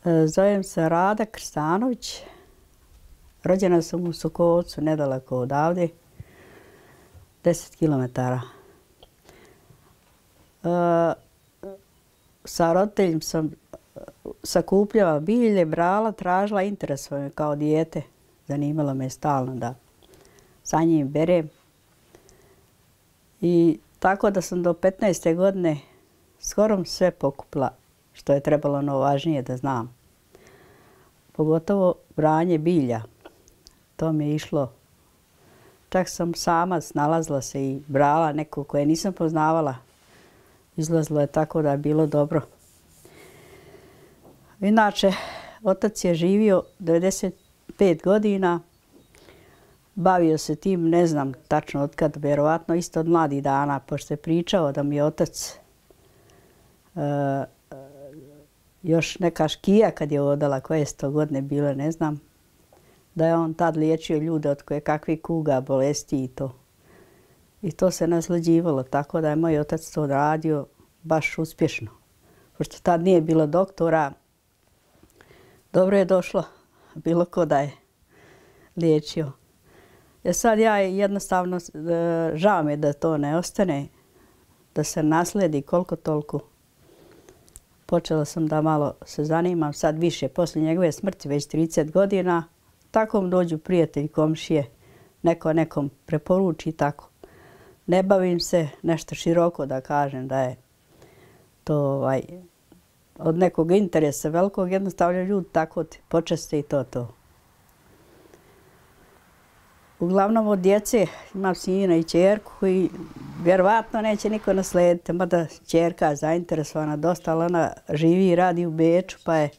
Zovem se Rada Krstanović. Rođena sam u Sokovcu, nedaleko odavde, 10 kilometara. Sa roditeljima sam sakupljala bilje, brala, tražila, interesovalo me kao dijete. Zanimalo me stalno da sa njim berem. I tako da sam do 15. godine skoro sve pokupila što je trebalo važnije da znam. Pogotovo branje bilja. To mi je išlo. Čak sam sama snalazila se i brala neko koje nisam poznavala. Izlazilo je tako da je bilo dobro. Inače, otac je živio 95 godina. Bavio se tim, ne znam tačno od kad, vjerovatno isto od mladih dana, pošto je pričao da mi je otac još neka škija kad je odala, koje 100 godine bile, ne znam, da je on tad liječio ljude od koje kakvih kuga, bolesti i to. I to se naslađivalo, tako da je moj otac to radio baš uspješno. Pošto tad nije bilo doktora, dobro je došlo bilo ko da je liječio. Sad ja jednostavno, žao mi je da to ne ostane, da se nasledi koliko toliko. Počela sam da malo se zanimam, sad više, poslije njegove smrti, već 30 godina. Tako mi dođu prijatelji, komšije, neko nekom preporuči tako. Ne bavim se nešto široko da kažem da je to od nekog interesa velikog, jednostavno ljudi tako počeste i to. Uglavnom od djece imam sina i ćerku koji vjerovatno neće niko naslediti, mada ćerka je zainteresovana dosta, ali ona živi i radi u Beču, pa je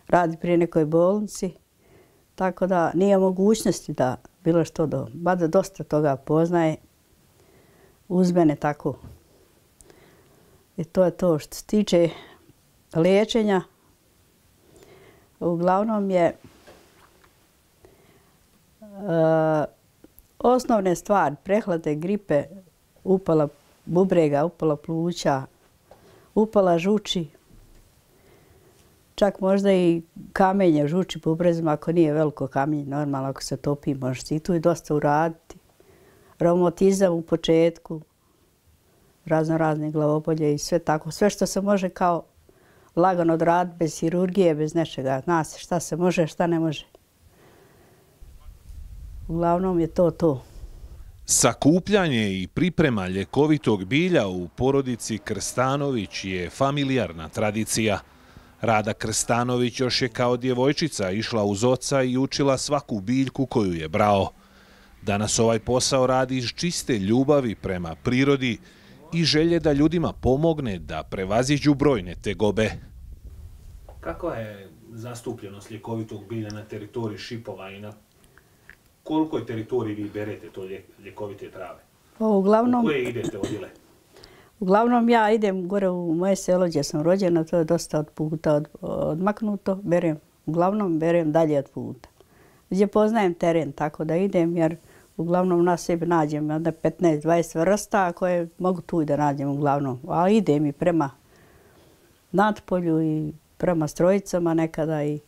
radi pri nekoj bolnici. Tako da nije mogućnosti da bilo što mada dosta toga poznaje uz mene tako. I to je to. Što se tiče liječenja, uglavnom je osnovne stvari, prehlade, gripe, upala bubrega, upala pluća, upala žuči, čak možda i kamenje žuči bubrezima, ako nije veliko kamenje, normalno ako se topi, može se i tu i dosta uraditi. Reumatizam u početku, razne glavobolje i sve tako. Sve što se može kao lagano odraditi, bez hirurgije, bez nečega. Zna se šta se može, šta ne može. Uglavnom je to. Sakupljanje i priprema ljekovitog bilja u porodici Krstanović je familijarna tradicija. Rada Krstanović još je kao djevojčica išla uz oca i učila svaku biljku koju je brao. Danas ovaj posao radi iz čiste ljubavi prema prirodi i želje da ljudima pomogne da prevaziđu brojne tegobe. Kakva je zastupljenost ljekovitog bilja na teritoriji Šipova i na kolikoj teritoriji vi berete to ljekovite trave? Uglavnom, u koje idete odjele? Uglavnom ja idem gore u moje selo gdje sam rođena, to je dosta od puta odmaknuto, uglavnom berem dalje od puta. Gdje poznajem teren, tako da idem, jer uglavnom na sebi nađem 15-20 vrsta koje mogu tu i da nađem uglavnom. Ali idem i prema Natpolju i prema Strojicama nekada i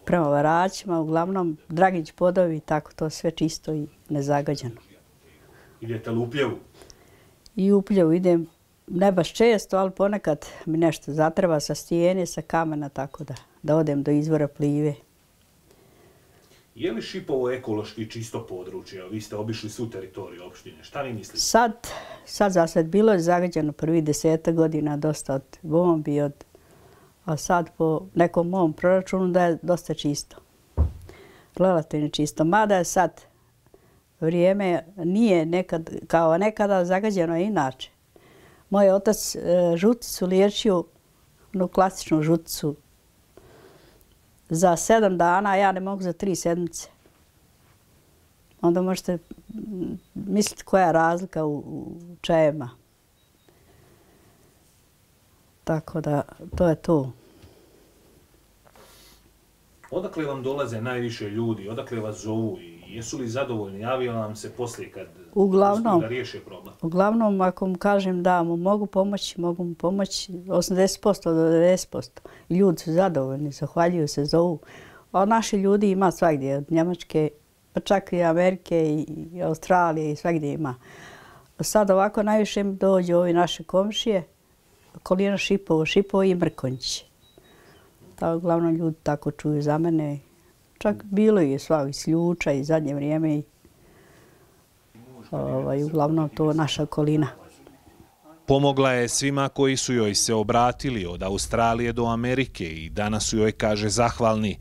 prema Varaćima, uglavnom Dragić podovi, tako to sve čisto i nezagađeno. Idete li u Upljevu? I u Upljevu idem, ne baš često, ali ponekad mi nešto zatreba sa stijene, sa kamena, tako da odem do izvora Plive. Je li Šipovo ekološki čisto područje? Vi ste obišli svu teritoriju opštine. Šta vi mislite? Sad za sad bilo je zagađeno prvih 10 godina dosta od bombi, a sad po nekom mom proračunu da je dosta čisto. Relativno čisto. Mada je sad vrijeme nije nekad, kao nekada zagađeno je inače. Moj otac žuticu liječio, onu klasičnu žuticu, za 7 dana, a ja ne mogu za 3 sedmice. Onda možete misliti koja je razlika u čajevima. Tako da, to je to. Odakle vam dolaze najviše ljudi? Odakle vas zovu i jesu li zadovoljni? Javio nam se poslije kad Uglavnom, da riješe problem? Uglavnom, ako mu kažem da mu mogu mu pomoći 80% do 90%. Ljudi su zadovoljni, zahvaljuju se, zovu. A naši ljudi ima svagdje, od Njemačke, pa čak i Amerike i Australije i svagdje ima. Sad ovako najviše mi dođu ovi naše komšije, okolina Šipovo i Mrkonjić. Uglavnom ljudi tako čuju za mene. Čak bilo je sva iz Sljuča i zadnje vrijeme. Uglavnom to naša okolina. Pomogla je svima koji su joj se obratili od Australije do Amerike i danas su joj, kaže, zahvalni.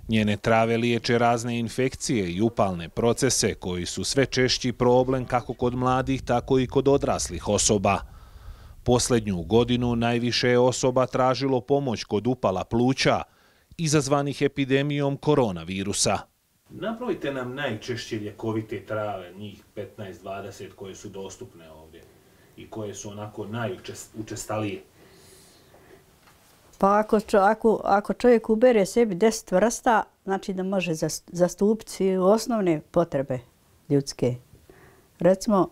Njene trave liječe razne infekcije i upalne procese koji su sve češći problem kako kod mladih, tako i kod odraslih osoba. Posljednju godinu najviše je osoba tražilo pomoć kod upala pluća, izazvanih epidemijom koronavirusa. Napravite nam najčešće ljekovite trave, njih 15-20 koje su dostupne ovdje i koje su onako najučestalije. Pa ako čovjek ubere sebi 10 vrsta, znači da može zastupiti osnovne potrebe ljudske. Recimo,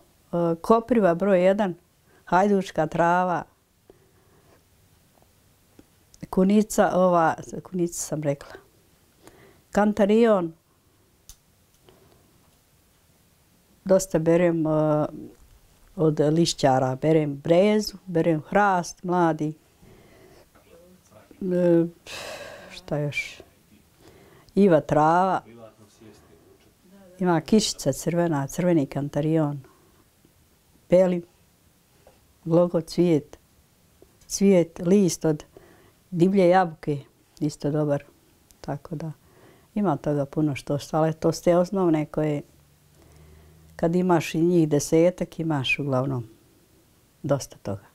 kopriva broj 1, hajdučka trava, kunica sam rekla, kantarion, dosta berem od lišćara, berem brezu, berem hrast, mladi. Šta još? Iva trava, ima kišica crvena, crveni kantarion, beli, glogo cvijet, list od divlje jabuke, isto dobar. Tako da ima toga puno što, ali to su te osnovne koje kad imaš i njih 10, imaš uglavnom dosta toga.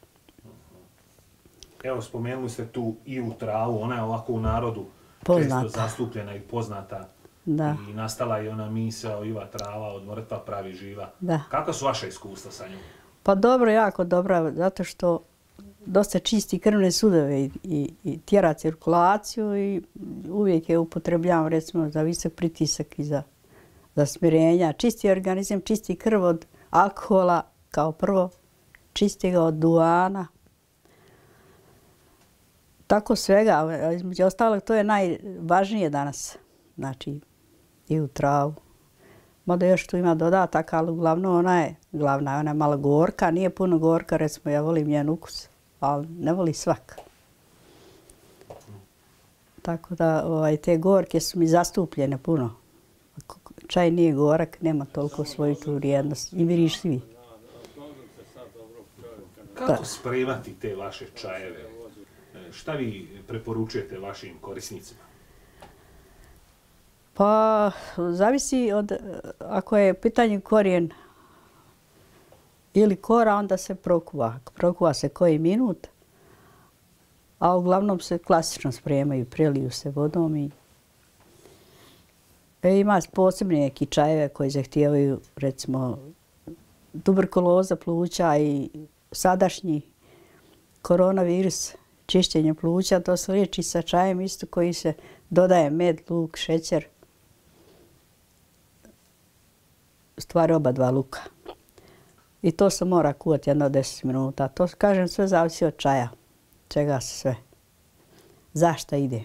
Evo, spomenuli ste tu Ivu travu, ona je ovako u narodu često zastupljena i poznata. Da. I nastala je ona misao Iva trava od mrtva pravi živa. Da. Kakva su vaša iskustva sa njom? Pa dobro, jako dobra, zato što dosta čisti krvne sudove i tjera cirkulaciju i uvijek je upotrebljavam recimo za visok pritisak i za smirenja. Čisti organizam, čisti krv od alkohola kao prvo, čisti ga od duana. Tako svega, između ostalog to je najvažnije danas, znači i u travu. Mada još tu ima dodatak, ali uglavnom ona je glavna, ona je malo gorka, nije puno gorka, recimo ja volim njen ukus, ali ne voli svak. Tako da te gorke su mi zastupljene puno. Čaj nije gorak, nema toliko svoju tu vrijednost i miriš svi. Kako spremati te vaše čajeve? Šta vi preporučujete vašim korisnicima? Pa, zavisi od, ako je pitanje korijen ili kora, onda se prokuva. Prokuva se koji minut, a uglavnom se klasično spremaju, preliju se vodom i ima posebne neki čajeve koji zahtijevaju, recimo, tuberkuloza pluća i sadašnji koronavirus, čišćenje pluća, to se liječi sa čajem isto koji se dodaje med, luk, šećer. Stvari oba dva luka. I to se mora kuvati jedno 10 minuta. To, kažem, sve zavisi od čaja. Čega se sve. Zašto ide?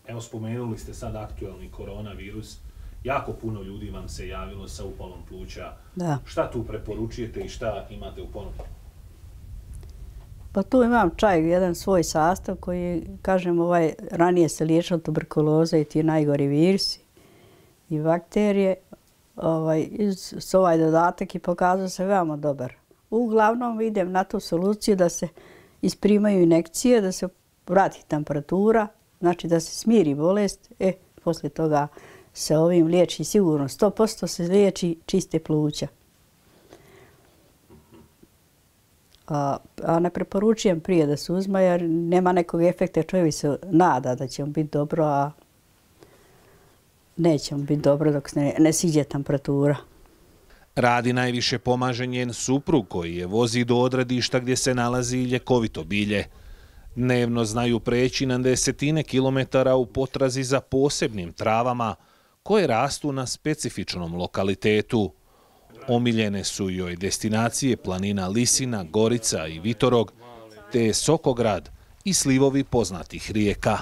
Evo, spomenuli ste sad aktualni koronavirus. Jako puno ljudi vam se javilo sa upalom pluća. Da. Šta tu preporučujete i šta imate u ponudi? Pa tu imam čaj, jedan svoj sastav koji, kažem, ranije se liječila tuberkuloza i ti najgori virusi i bakterije. Ovaj dodatak i pokazao se veoma dobar. Uglavnom idem na tu soluciju da se isprimaju injekcije, da se vrati temperatura, znači da se smiri bolest. Poslije toga se ovim liječi sigurno 100% se liječi čiste pluća. A ne preporučujem prije da se uzma jer nema nekog efekta, čovjek se nada da će mu biti dobro, a neće mu biti dobro dok se ne siđe temperatura. Radi najviše pomaže njen suprug koji je vozi do odredišta gdje se nalazi ljekovito bilje. Dnevno znaju preći na 10 kilometara u potrazi za posebnim travama koje rastu na specifičnom lokalitetu. Omiljene su joj destinacije planina Lisina, Gorica i Vitorog, te Sokograd i slivovi poznatih rijeka.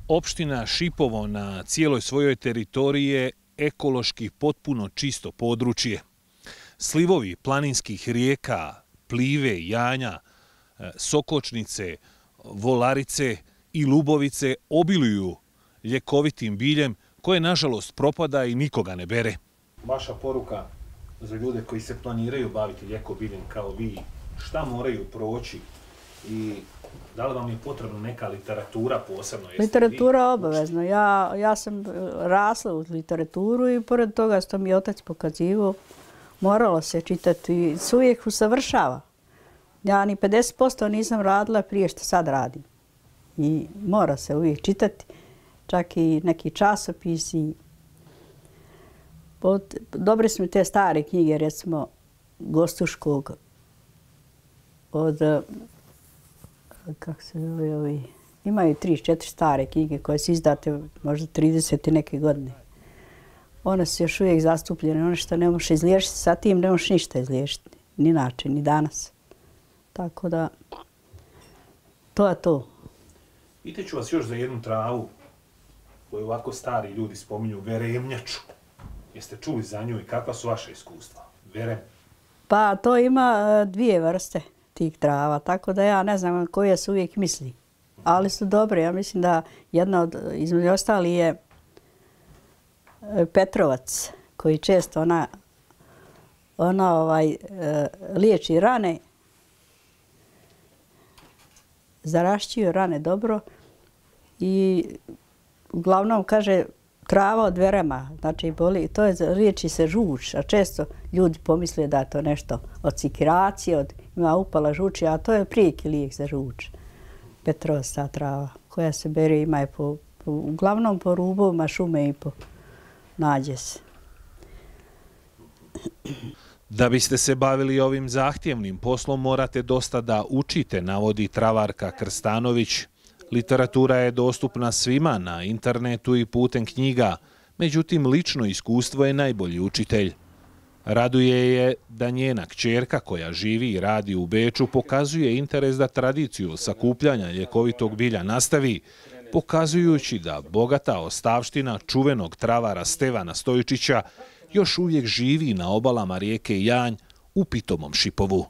Opština Šipovo na cijeloj svojoj teritoriji je ekološki potpuno čisto područje. Slivovi planinskih rijeka, Plive, Janja, Sokočnice, Volarice i Lubovice obiluju ljekovitim biljem koje nažalost propada i nikoga ne bere. Vaša poruka za ljude koji se planiraju baviti ljekobiljem kao vi, šta moraju proći i da li vam je potrebna neka literatura posebno? Literatura obavezno. Ja sam rasla u literaturu i pored toga što mi je otac pokazivao, moralo se čitati i se uvijek usavršava. Ja ni 50% nisam radila prije što sad radim. I mora se uvijek čitati, čak i neki časopisi. Dobre su mi te stare knjige, recimo Gostuškog, od, kako se zove ovi, imaju 3-4 stare knjige koje su izdate možda 30 i neke godine. One su još uvijek zastupljene, ono što ne možeš izliješiti, sa tim ne možeš ništa izliješiti, ni način, ni danas. Tako da, to je to. Pitaću vas još za jednu travu koju ovako stari ljudi spominju, veremnjaču. Jeste čuli za nju i kakva su vaše iskustva? Verem? Pa to ima dvije vrste tih trava, tako da ja ne znam koje se uvijek misli. Ali su dobre, ja mislim da jedna od, između ostali je Petrovac, koji često liječi rane, zarašćuje rane dobro i uglavnom kaže trava od verema, znači boli, to je, liječi se žuč, a često ljudi pomisle da je to nešto od sikiracije, ima upala žuči, a to je prijeki lijek za žuč. Petrovac ta trava koja se bere, ima je uglavnom po rubovima šume i po nađe se. Da biste se bavili ovim zahtjevnim poslom morate dosta da učite, navodi travarka Krstanović. Literatura je dostupna svima na internetu i putem knjiga, međutim lično iskustvo je najbolji učitelj. Raduje je da njena kćerka koja živi i radi u Beču pokazuje interes da tradiciju sakupljanja ljekovitog bilja nastavi, pokazujući da bogata ostavština čuvenog travara Stevana Stojčića još uvijek živi na obalama rijeke Janj u pitomom Šipovu.